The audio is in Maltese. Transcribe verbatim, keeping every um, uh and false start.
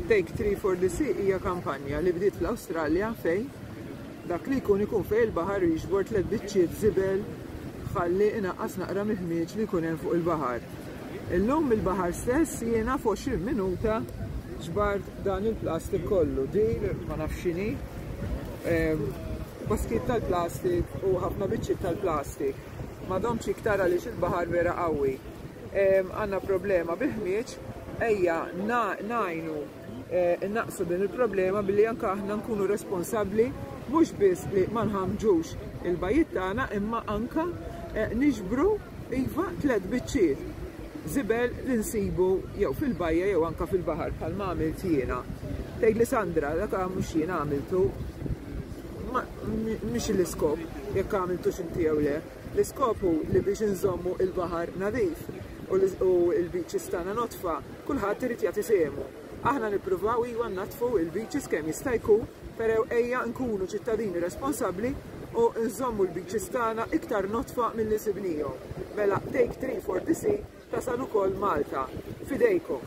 Take Three for the Sea hija kampanja li bdiet fl-Awstralja fejn dak li jkun ikun fejn il-baħar jiġbor tliet biċċiet żibel ħalli inaqqas naqra mill-ħmieġ li jkun hemm fuq il-baħar. Illum il-baħar stess jiena f'għoxrin minuta ġbart dan il-plastik kollu. Din ma nafx x'inhi, baskit tal-plastik u ħafna biċċiet tal-plastik. Ma domtx iktar għaliex il-baħar vera qawwi. Għandna problema bil-ħmieġ, ejja ngħinu innaqsu din il-problema billi anke aħna nkunu responsabbli mhux biss li ma nħamġux il-bajjiet tagħna imma anke niġbru iva tliet biċċiet żibel li nsibu jew fil-bajja jew anke fil-baħar bħalma għamilt jiena. Tgħidli Sandra, dak mhux jiena għamiltu. Mhix l-iskop jekk għamiltux inti jew le. L-iskop hu li biex inżommu il-baħar nadif u l-beaches tagħna nodfa, kulħadd irid jagħti sehmu. Aħna nippruvaw iva nnaddfu il-beaches kemm jista' jkun, però ejja nkunu ċittadini responsabbli u nżommu l-beaches tagħna iktar nodfa milli sibnihom. Mela Take Three for the Sea tasal ukoll Malta. F'idejkom.